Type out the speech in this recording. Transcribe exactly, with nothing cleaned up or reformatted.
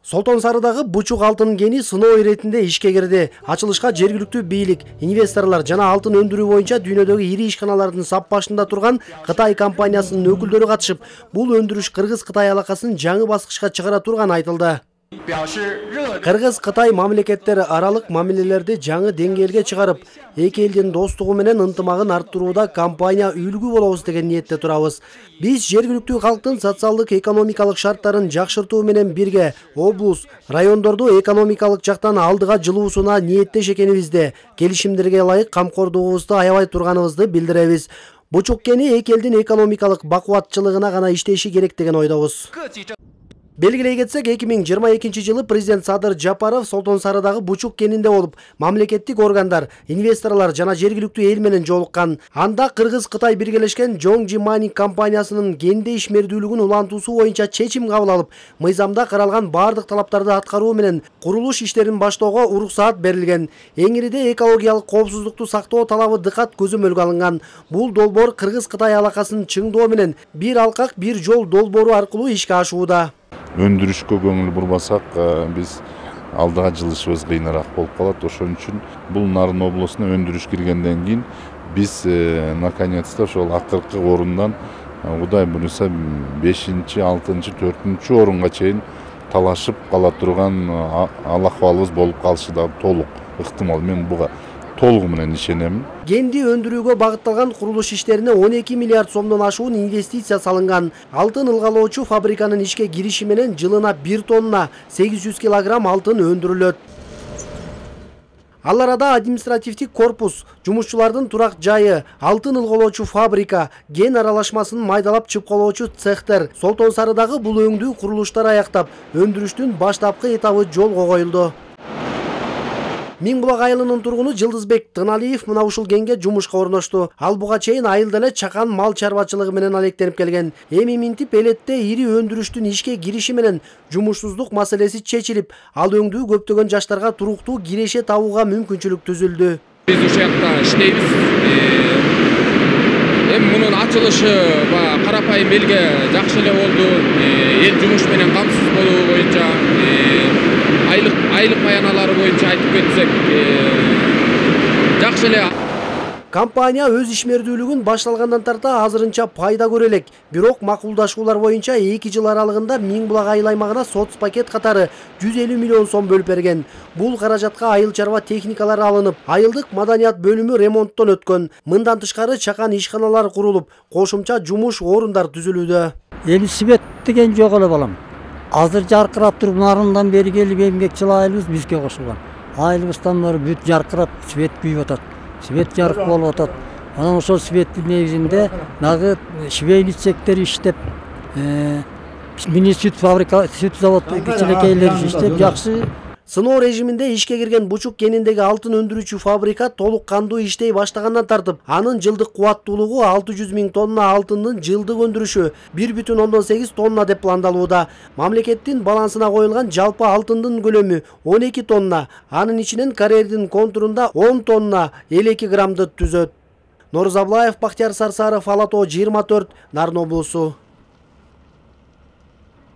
Солтон Сарыдагы Бучук алтын кени сыноо иретинде ишке кирди. Ачылышка жергиликтүү бийлик, инвесторлор жана алтын өндүрүү боюнча дүйнөдөгү ири ишканалардын сап башында турган Кытай компаниясынын өкүлдөрү катышып, бул өндүрүш Кыргыз-Кытай алакасын жаңы баскычка чыгара турганы айтылды. Кыргыз-Кытай мамлекеттери аралык мамилелерди жаңы деңгээлге чыгарып, эки элдин достугу менен ынтымагын арттырууда компания үлгү болобуз деген ниетте турабыз. Биз жергиликтүү калктын социалдык экономикалык шарттарын жакшыртуу менен бирге облус, райондорду экономикалык жактан алдыга жылуусуна ниеттеш экенибизди, келишимдерге ылайык камкордугубузду аябай турганыбызды билдиребиз. Бучук кени эки элдин экономикалык бакубатчылыгына гана иштеши керек деген ойдобуз. Белгилей кетсек, эки миң жыйырма экинчи жылы президент Садыр Жапаров Солтон Сарыдагы Бучук кенинде болуп, мамлекеттик органдар, инвесторлор жана жергиликтүү эл менен жолуккан. Анда Кыргыз-Кытай биргелешкен Жоңжи Майнинг компаниясынын кенде ишмердүүлүгүн улантуусу боюнча чечим кабыл алып, мыйзамда каралган бардык талаптарды аткаруу менен курулуш иштерин баштоого уруксаат берилген. Эңириде экологиялык коопсуздукту сактоо талабы дыкат көзөмөлгө алынган. Бул долбоор Кыргыз-Кытай алакасын чыңдоо менен бир алкак бир жол долбоору аркылуу ишке ашууда. Өндүрүшкө көңүл бурбасак, биз алдыга жылышыбыз кыйыныраак болуп калат. Ошон үчүн бул Нарын облусуна өндүрүш киргенден кийин биз наконец-то ошол акыркы орундан Кудай буюрса бешинчи, алтынчы, төртүнчү орунга чейин талашып кала турган ал акыбалыбыз болуп калышы да толук ыктымал. Мен буга толугу менен ишенем. Кенди өндүрүүгө багытталган курулуш иштерине он эки миллиард сомдон ашуун инвестиция салынган. Алтын ылгалоочу фабриканын ишке кириши менен жылына бир тонна сегиз жүз килограмм алтын өндүрүлөт. Ал арада административдик корпус, жумушчулардын турак жайы, алтын ылгалоочу фабрика, ген аралашмасын майдалап чыпкалоочу цехтер, Солтон Сарыдагы бул өңдүү курулуштар аяктап, өндүрүштүн баштапкы этабы жолго коюлду. Миңбулак айылынын тургуну Жылдызбек Тыналиев мына ушул кенге жумушка орношту. Ал буга чейин айылда эле чакан мал чарбачылыгы менен алектенип келген. Эми минтип элетте ири өндүрүштүн ишке кириши менен жумушсуздук маселеси чечилип, ал өңдүү көптөгөн жаштарга туруктуу киреше табууга мүмкүнчүлүк түзүлдү. Биз ушул жакта иштейбиз. Эми мунун ачылышы карапайым элге жакшы эле болду. Эл жумуш менен камсыз болуу боюнча айлык айлык баяналары боюнча айтып кетсек, жакшы эле. Компания өз ишмердүүлүгүн башталгандан тарта азырынча пайда көрө элек. Бирок макулдашуулар боюнча эки жыл аралыгында Миңбулак айыл аймагына соц пакет катары жүз элүү миллион сом бөлүп берген. Бул каражатка айыл чарба техникалары алынып, айылдык маданият бөлүмү ремонттон өткөн. Мындан тышкары чакан ишканалар курулуп, кошумча жумуш орундар түзүлүүдө. Эми свет деген жок эле балам. Азыр жаркырап туруп, нарындан бери келип эмгекчил айылыбыз бизге кошулган. Айылыбыздан бери бүт жаркырап, свет күйүп атат. Свет жарык болуп атат. Анан ошол светтин негизинде дагы швейный цехтер иштеп, мини сүт фабрика, сүт завод кичинекейлер иштеп, жакшы. Сыноо режиминде ишке кирген Бучук кениндеги алтын өндүрүүчү фабрика толук кандуу иштей баштагандан тартып, анын жылдык кубаттуулугу алты жүз миң тонна алтындын жылдык өндүрүшү бир бүтүн ондон сегиз тонна деп пландалууда. Мамлекеттин балансына коюлган жалпы алтындын көлөмү он эки тонна, анын ичинен карьердин контурунда он тонна элүү эки граммды түзөт. Норuz Аблаев, Бактияр Сарсаров, Ала тоо жыйырма төрт, Нарын облусу.